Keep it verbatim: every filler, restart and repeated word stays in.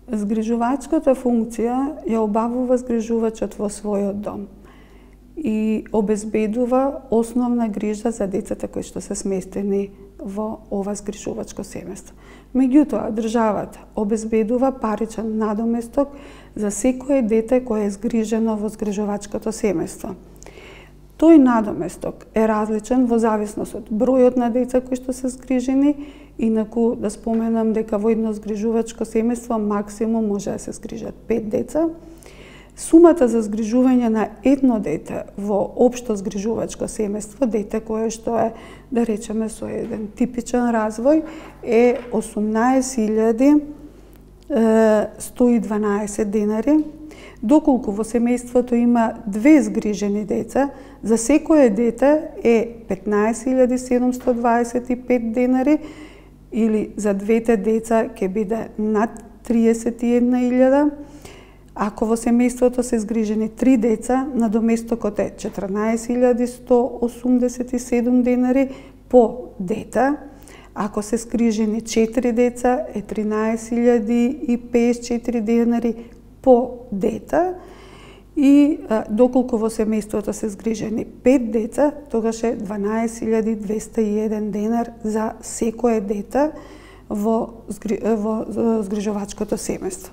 Згрижувачката функција ја обавува згрижувачот во својот дом и обезбедува основна грижа за децата кои што се сместени во ова згрижувачко семејство. Меѓутоа, државата обезбедува паричен надоместок за секое дете кое е згрижено во згрижувачкото семејство. Тој надоместок е различен во зависност од бројот на деца кои што се згрижени, инаку да споменам дека во едно згрижувачко семејство максимум може да се згрижат пет деца. Сумата за згрижување на едно дете во општо згрижувачко семејство, дете кое што е, да речеме, со еден типичен развој, е осумнаесет илјади сто и дванаесет денари. Доколку во семејството има две згрижени деца, за секое дете е петнаесет илјади седумсто дваесет и пет денари, или за двете деца ќе биде над триесет и една илјада. Ако во семејството се згрижени три деца, надоместокот е четрнаесет илјади сто осумдесет и седум денари по дете. Ако се згрижени четири деца, е тринаесет илјади и пеесет и четири денари по дете. И а, доколку во семејството се згрижени пет деца, тогаш е дванаесет илјади двесте и еден денар за секое дете во, згри... во згрижувачкото семејство.